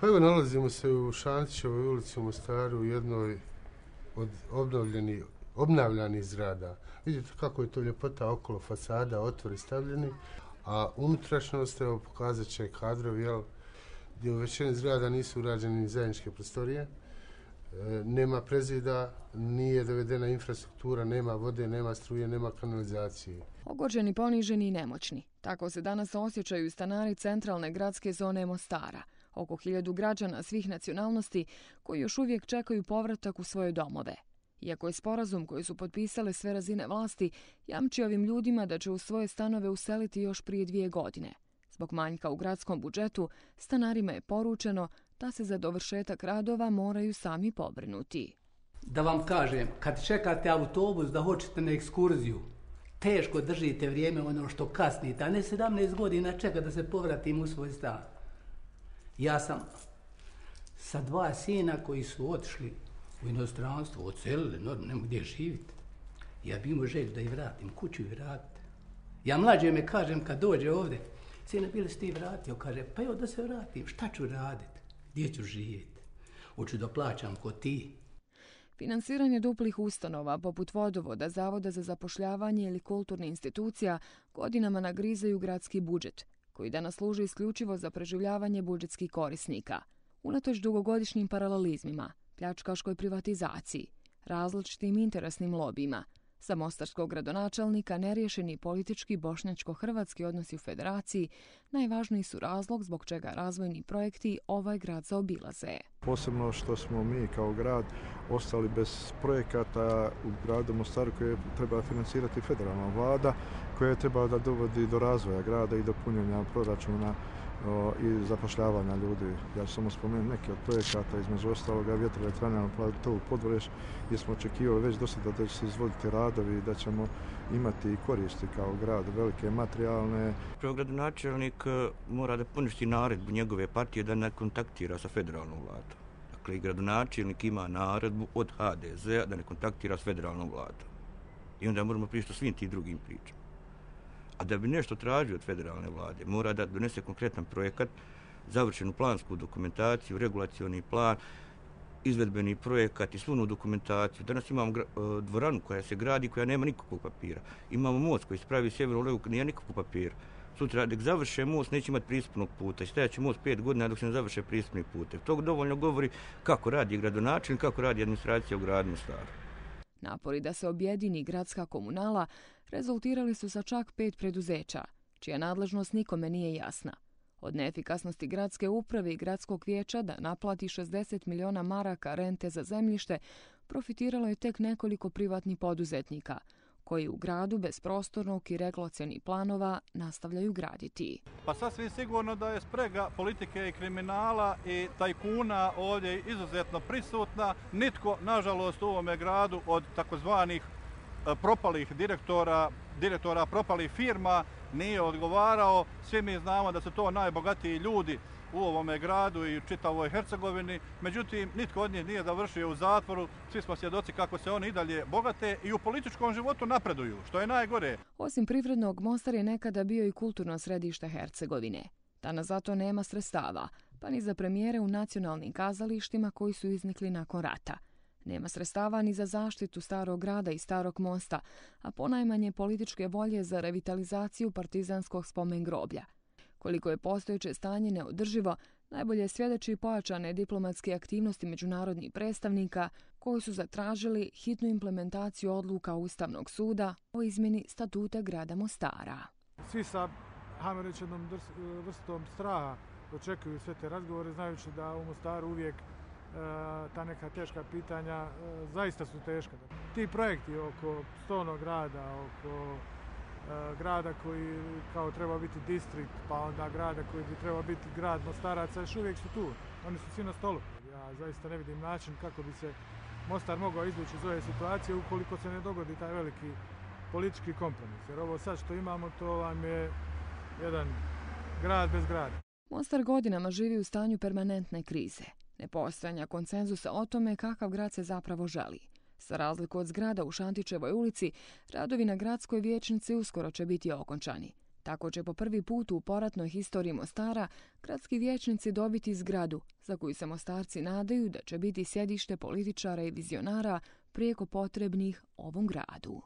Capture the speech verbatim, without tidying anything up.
Pa evo, nalazimo se u Šantićevoj ulici u Mostaru, u jednoj od obnovljenih, obnavljanih zgrada. Vidite kako je to ljepota okolo fasada, otvori stavljeni, a unutrašnjost, evo pokazat će kadrovi, jel, gdje u većini zgrada nisu urađene ni zajedničke prostorije, e, nema prezida, nije dovedena infrastruktura, nema vode, nema struje, nema kanalizacije. Ogorčeni, poniženi i nemoćni. Tako se danas osjećaju stanari centralne gradske zone Mostara. Oko hiljadu građana svih nacionalnosti koji još uvijek čekaju povratak u svoje domove. Iako je sporazum koji su potpisale sve razine vlasti jamči ovim ljudima da će u svoje stanove useliti još prije dvije godine. Zbog manjka u gradskom budžetu, stanarima je poručeno da se za dovršetak radova moraju sami pobrinuti. Da vam kažem, kad čekate autobus da hoćete na ekskurziju, teško držite vrijeme ono što kasnite, a ne sedamnaest godina čeka da se povratim u svoj stan. Ja sam sa dva sina koji su otišli u inostranstvo, odselili, normalno nema gdje živjeti. Ja bi imao želju da ih vratim, kuću ih vratiti. Ja mlađe me kažem kad dođe ovdje, sine, bili si ti vratio? Kaže, pa evo da se vratim, šta ću raditi? Gdje ću živjeti? Hoću da plaćam ko ti. Finansiranje duplih ustanova, poput vodovoda, zavoda za zapošljavanje ili kulturnih institucija, godinama nagrizaju gradski budžet, koji danas služi isključivo za preživljavanje budžetskih korisnika. Unatoč dugogodišnjim paralelizmima, pljačkaškoj privatizaciji, različitim interesnim lobijima, za mostarskog gradonačelnika neriješeni politički bošnjačko-hrvatski odnosi u federaciji najvažniji su razlog zbog čega razvojni projekti ovaj grad zaobilaze. Posebno što smo mi kao grad ostali bez projekata u gradu Mostaru koje treba financirati federalna vlada, koja treba da dovodi do razvoja grada i do punjenja proračuna o, i zapošljavanja ljudi. Ja ću samo spomenuti neke od projekata, između ostaloga vjetroelektrana na platovu Podvoreš, gdje smo očekivali već do sada da će se izvoditi radovi i da ćemo imati i koristi kao grad, velike materijalne. Gradonačelnik mora da poništi naredbu njegove partije da ne kontaktira sa federalnom vladom. Dakle, i gradonačelnik ima naredbu od ha de zea da ne kontaktira s federalnom vladom. I onda moramo pričati o svim tim drugim pričama. A da bi nešto tražio od federalne vlade, mora da donese konkretan projekat, završenu plansku dokumentaciju, regulacioni plan, izvedbeni projekat i svunu dokumentaciju. Danas imamo dvoranu koja se gradi, koja nema nikakvog papira. Imamo most koji se pravi sjeverno levo, koja nije nikakvog papira. Sutra, dok završe most, neće imati pristupnog puta i stajat će most pet godina dok se ne završe pristupni put. To dovoljno govori kako radi gradonačelnik, kako radi administracija u gradu Mostaru. Napori da se objedini gradska komunala rezultirali su sa čak pet preduzeća, čija nadležnost nikome nije jasna. Od neefikasnosti gradske uprave i gradskog vijeća da naplati šezdeset miliona maraka rente za zemljište, profitiralo je tek nekoliko privatnih poduzetnika, koji u gradu bez prostornog i regulacionih planova nastavljaju graditi. Pa sasvim sigurno da je sprega politike i kriminala i tajkuna ovdje izuzetno prisutna. Nitko, nažalost, u ovome gradu od takozvanih propalih direktora, direktora propalih firma nije odgovarao. Svi mi znamo da su to najbogatiji ljudi u ovome gradu i u čitavoj Hercegovini. Međutim, nitko od njih nije završio u zatvoru. Svi smo svjedoci kako se oni i dalje bogate i u političkom životu napreduju, što je najgore. Osim privrednog, Mostar je nekada bio i kulturno središte Hercegovine. Danas zato nema sredstava, pa ni za premijere u nacionalnim kazalištima koji su iznikli nakon rata. Nema sredstava ni za zaštitu starog grada i starog mosta, a ponajmanje političke volje za revitalizaciju partizanskog spomen groblja. Koliko je postojeće stanje neodrživo, najbolje svjedoči pojačane diplomatske aktivnosti međunarodnih predstavnika koji su zatražili hitnu implementaciju odluka Ustavnog suda o izmjeni statuta grada Mostara. Svi sa, hajmo reći, jednom vrstom straha očekuju sve te razgovore, znajući da u Mostaru uvijek ta neka teška pitanja zaista su teška. Ti projekti oko stolnog grada, oko grada koji kao treba biti distrikt, pa onda grada koji bi trebao biti grad Mostaraca, još uvijek su tu. Oni su svi na stolu. Ja zaista ne vidim način kako bi se Mostar mogao izvući iz ove situacije ukoliko se ne dogodi taj veliki politički kompromis. Jer ovo sad što imamo, to vam je jedan grad bez grada. Mostar godinama živi u stanju permanentne krize, nepostojanja konsenzusa o tome kakav grad se zapravo želi. Za razliku od zgrada u Šantićevoj ulici, radovi na gradskoj vijećnici uskoro će biti okončani. Tako će po prvi put u poratnoj historiji Mostara gradski vijećnici dobiti zgradu za koju se Mostarci nadaju da će biti sjedište političara i vizionara prijeko potrebnih ovom gradu.